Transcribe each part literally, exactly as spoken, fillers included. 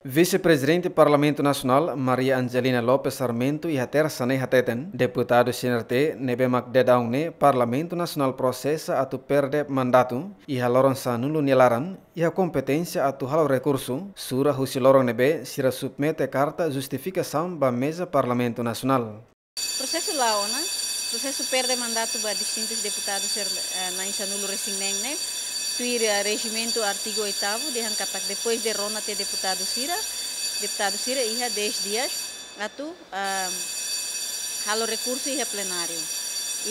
Vise-Prezidente Parlamentu Nasionál, Maria Angelina Lopes Sarmento, iha Tersa ne'e hateten, deputadu C N R T ne'ebé mak daudaun ne'e Parlamentu Nasionál prosesa atu perde mandatu iha loron sanulu nia laran, iha kompeténsia atu halo rekursu, sura husi loron ne'ebé sira submete karta justifikasaun ba meza Parlamentu Nasionál. Prosesu la'o ona, prosesu perde mandatu ba distintus deputadu sira, eh, na'in sanulu resin neen ne'e, tuir, eh, rejimentu artigu oitavu, dehan katak depois de rona tiha deputadu sira, deputadu sira iha dez dias atu, ah, halo rekursu iha plenáriu.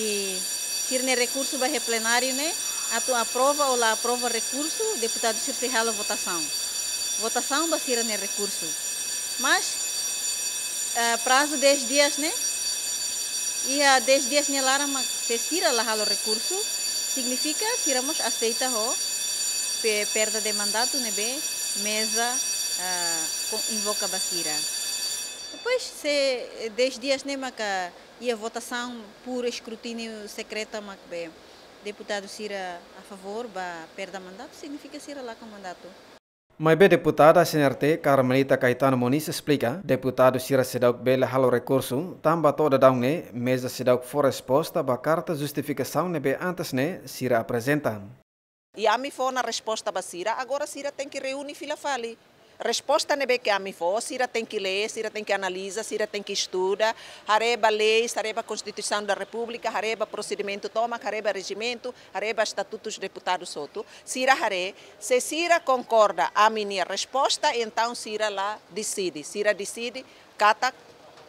I sira-nia rekursu ba iha plenáriu ne'e, atu aprova ou la aprova rekursu, deputadu sira sei halo votasaun. Votasaun ba sira-nia rekursu. Mas, eh, prazu dez dias ne'e, iha dez dias nia laran mak se sira la halo rekursu, signifika sira mós aseita ho pe-, perda de mandatu ne'ebé meza, ah, ko-, invoka ba sira. Depois, se dez dias ne'e maka iha votasaun por escrutínio secreto mak be deputadu sira a favor ba perda mandatu, signifika sira lakon mandatu. Maibé deputada C N R T Carmelita Caetano Moniz esplika, deputadu sira seidauk bele halo rekursu, tanba to'o daudaun ne'e meza seidauk fó resposta ba karta justifikasaun ne'ebé antes ne'e sira aprezenta. I ami fó ona resposta ba sira, agora sira tenke reúne fila fali. Resposta ne'ebé ke ami fó, sira tenke lee, sira tenke analiza, sira tenke estuda, haree ba leis, haree ba Konstituisaun da Repúblika, haree ba prosedimentu tomak, haree ba rejimentu, haree ba estatutus deputadus hotu. Sira haree, se sira konkorda ami-nia resposta, entaun sira la deside. Sira deside katak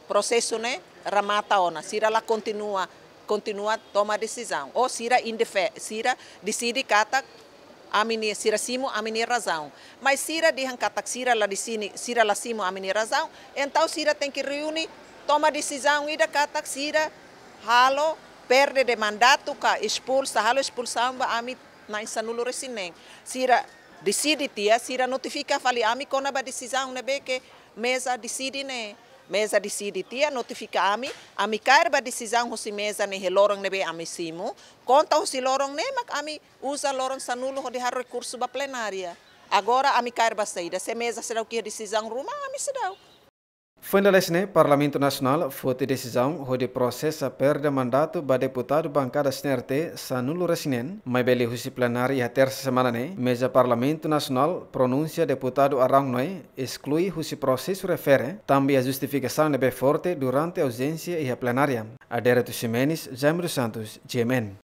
prosesu ne'e remata ona, sira la kontinua, kontinua toma desizaun. Ou sira indefe-, sira deside katak ami-nia, sira simu ami-nia razaun. Mas sira dehan katak sira la deside, sira la simu ami-nia razaun, entaun sira tenke reúne, toma desizaun ida katak sira halo perde de mandatu ka espulsa, halo espulsaun ba ami na'in sanulu resin neen. Sira deside tiha, sira notifika fali ami kona-ba desizaun ne'ebé ke meza deside ne'e. Meza deside tiha, notifika ami, ami kaer ba desizaun husi meza ne'e iha loron ne'ebé ami simu, konta husi loron ne'e mak ami uza loron sanulu hodi halo rekursu ba plenária. Agora ami kaer ba saida, se meza seidauk iha desizaun ruma, ami seidauk. Foin dala ne'e, Parlamentu Nasionál foti desizaun hodi prosesa perde mandatu ba deputadu bankada C N R T sanulu resin neen, maibé liuhusi plenária iha tersa semana ne'e, meza Parlamentu Nasionál pronunsia deputadu Arão Noé esklui husi prosesu refere, tanba iha justifikasaun ne'ebé forte durante auzénsia iha plenária. Adérito Ximenes, Jaime dos Santos, G M N.